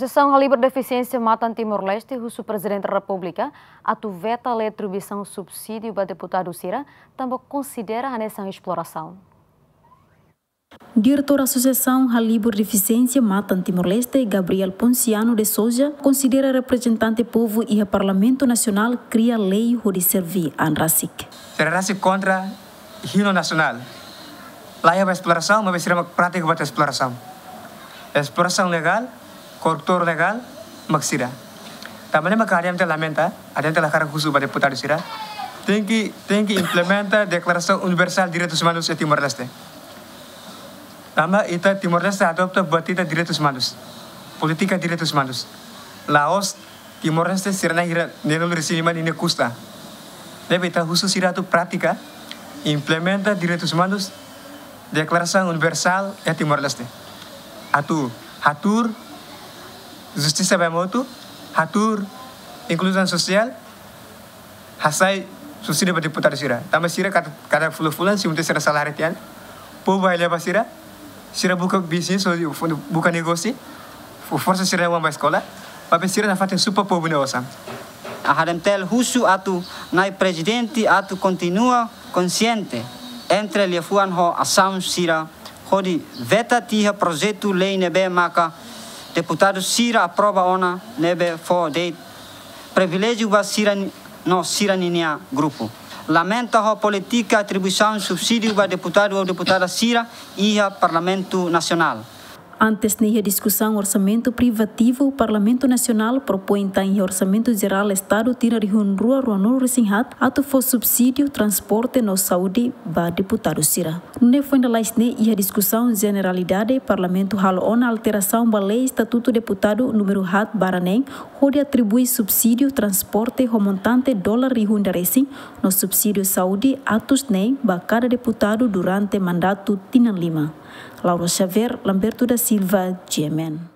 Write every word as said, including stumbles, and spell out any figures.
Asosiasaun Halibur Defisiénsia Matan Timor-Leste husu Prezidente Repúblika atu veta lei atribuisaun subsídiu ba deputadu sira, tanba konsidera hanesan esplorasaun. Diretór Asosiasaun Halibur Defisiénsia Matan Timor-Leste, Gabriel Ponciano de Sousa, konsidera reprezentante povu iha Parlamentu Nasionál kria lei hodi serve an rasik. Sira rasik kontra himnu nasionál. Laiha ba esplorasaun, maibé sira mak prátika buat esplorasaun. Esplorasaun legál, korruptór legál, mak sira. Tanba ne'e mak A D M T lamenta, A D M T hakarak husu ba deputadu sira. Tenke, tenke implementa Deklarasaun Universál Direitus Umanus iha Timor-Leste. Tanba ita Timor-Leste adopta buat ita direitus umanus. Polítika direitus umanus. La'ós Timor-Leste sira na'in hira neenulu resin lima ninia kusta. Ne'ebé ita husu sira atu prátika, implementa direitus umanus, Deklarasaun Universál iha Timor-Leste. Atu hatuur justisa ba ema hotu, hatuur inkluzaun sosiál, hasai subsídiu ba deputadu sira. Tanba sira kada, kada fulan-fulan, simu tiha sira saláriu tiha an, povu bá leba sira, sira buka bisnis, ou buka negósiu, fó forsa sira-nia oan ba eskola, papel sira nafatin supa povu nia osan. A D M T husu atu Na'i Prezidente atu kontinua konsiente entre liafuan ho asaun sira hodi veta tiha projetu lei ne'ebé maka deputadu sira aprova ona, ne'ebé fó de'it priviléjiu ba sira ni-, no sira ninia grupu. Lamenta ho polítika atribuisaun subsídiu ba deputadu ou deputada sira iha Parlamentu Nasionál. Antes ne'e iha diskusaun orsamentu privativu, Parlamentu Nasionál propoin tan iha Orsamentu Jerál Estadu tinan rihun rua ruanulu resin haat atu fó subsídiu transporte no saúde ba deputadu sira. Nune'e foin lalais ne'e iha diskusaun jeneralidade, Parlamentu halo ona alterasaun ba lei Estatutu Deputadu númeru haat barra neen, hodi atribui subsídiu transporte ho montante dolar rihun ida resin, no subsídiu saúde atus neen ba kada deputadu durante mandatu tinan lima. Laura Xavier, Lamberto da Silva, G M N.